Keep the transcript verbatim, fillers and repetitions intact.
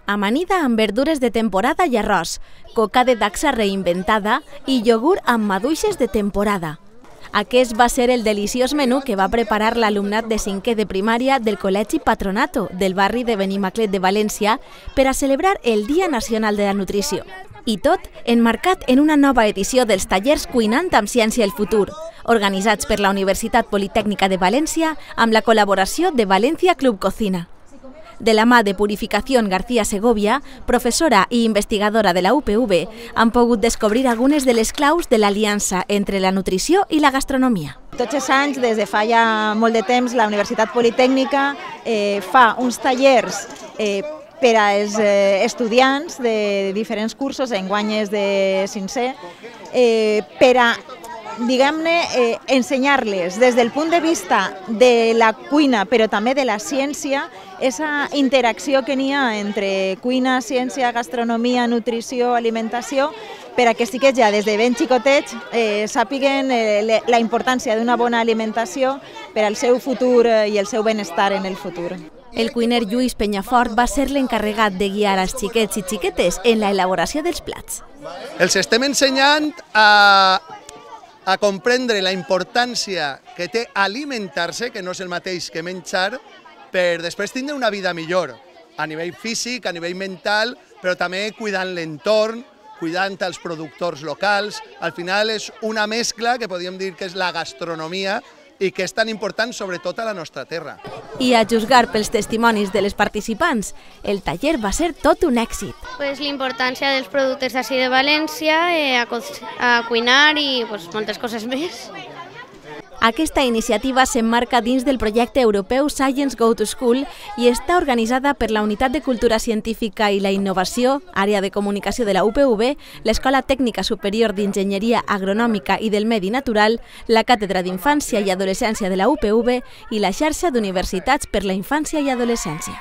Amanida amb verdures de temporada i arròs, coca de dacsa reinventada i iogurt amb maduixes de temporada. Aquest va ser el deliciós menú que va preparar l'alumnat de cinquè de primària del Col·legi Patronato del barri de Benimaclet de València per a celebrar el Dia Nacional de la Nutrició. I tot emmarcat en una nova edició dels tallers Cuinant amb Ciència el Futur, organitzats per la Universitat Politècnica de València amb la col·laboració de València Club Cocina. De la mà de Purificación García Segovia, professora i investigadora de la U P V, han pogut descobrir algunes de les claus de l'aliança entre la nutrició i la gastronomia. Tots els anys, des de fa ja molt de temps, la Universitat Politècnica eh, fa uns tallers eh, per als eh, estudiants de diferents cursos, enguany és de cinquè, eh, per a diguem-ne, eh, ensenyar-les des del punt de vista de la cuina, però també de la ciència, aquesta interacció que n'hi ha entre cuina, ciència, gastronomia, nutrició, alimentació, per a que sí que ja des de ben xicotets eh, sàpiguen eh, la importància d'una bona alimentació per al seu futur i el seu benestar en el futur. El cuiner Lluís Penyafort va ser l'encarregat de guiar els xiquets i xiquetes en l'elaboració dels plats. Els estem ensenyant a a comprendre la importància que té alimentar-se, que no és el mateix que menjar, per després tindre una vida millor, a nivell físic, a nivell mental, però també cuidant l'entorn, cuidant els productors locals. Al final és una mescla que podríem dir que és la gastronomia i que és tan important sobretot a la nostra terra. I a juzgar pels testimonis de les participants, el taller va ser tot un èxit. Pues l'importància dels productes d'ací de València, eh, a, a cuinar i pues, moltes coses més. Aquesta iniciativa s'emmarca dins del projecte europeu Science Go to School i està organitzada per la Unitat de Cultura Científica i la Innovació, àrea de comunicació de la U P V, l'Escola Tècnica Superior d'Enginyeria Agronòmica i del Medi Natural, la Càtedra d'Infància i Adolescència de la U P V i la xarxa d'universitats per la infància i adolescència.